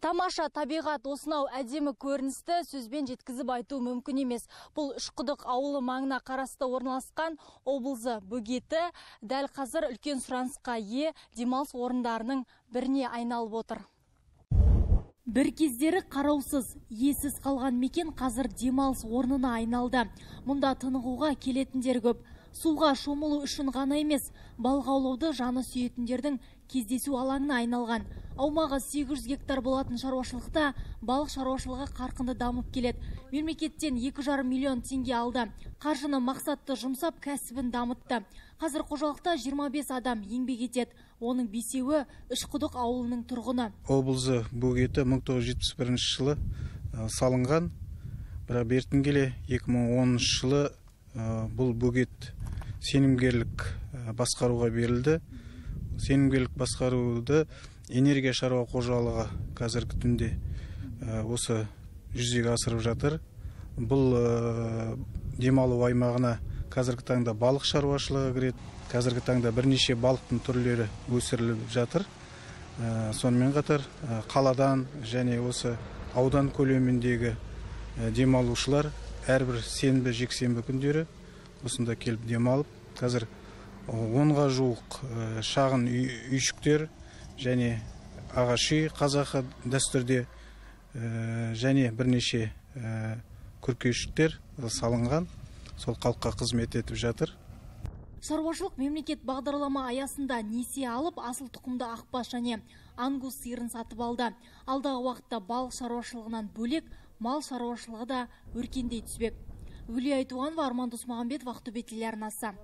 Тамаша табиғат осынау әдемі көріністі сөзбен жеткізіп айту мүмкін емес. Бұл Үшқұдық ауылы маңына қарасты орналасқан облысы бөгеті дәл қазір үлкен сұранысқа ие демалыс орындарының біріне айналып отыр. Бір кездері қараусыз, иесіз қалған мекен қазір демалыс орнына айналды. Мұнда тынығуға келетіндер көп. Суға шомылу үшін ғана емес, балық аулауды жаны сүйетіндердің кездесу алаңына айналған. Аумағы 800 гектар болатын шаруашылықта балық шаруашылығы қарқынды дамып келеді. Мемлекеттен 2,5 миллион теңге алды. Қаржыны мақсатты жұмсап кәсібін дамытты. Қазір қожалықта 25 адам еңбек етеді. Оның 5-еуі Үшқұдық ауылының тұрғыны. Облысы бөгеті 1971 жылы салынған, бірақ бертін келе 2010 жылы бұл бөгет сенімгерлік басқаруға берілді. Сенімгерлік басқаруды энергия шаруа қожалығы қазіргі түнде осы жүзеге асырып жатыр. Бұл демалу аймағына қазіргі таңда балық шаруашылығы кіреді. Қазіргі таңда бірнеше балықтың түрлері өсіріліп жатыр. Сонымен қатар қаладан және осы аудан көлеміндегі демалушылар әрбір сенбі, жексенбі күндері осында келіп демалып, қазір 10-ға жуық шағын үйшіктер және ағаш үй қазақы дәстүрде және бірнеше күркешіктер салынған, сол халыққа қызмет етіп жатыр. Шаруашылық мемлекет бағдарлама аясында несие алып, асыл тұқымды ақбас және ангус сиырын сатып алды. Алдағы уақытта балық шаруашылығынан бөлек мал шаруашылығы да өркендей түспек. Гүлия Айтуғанова, Арман Досмағамбетов, Ақтөбе телеарнасы.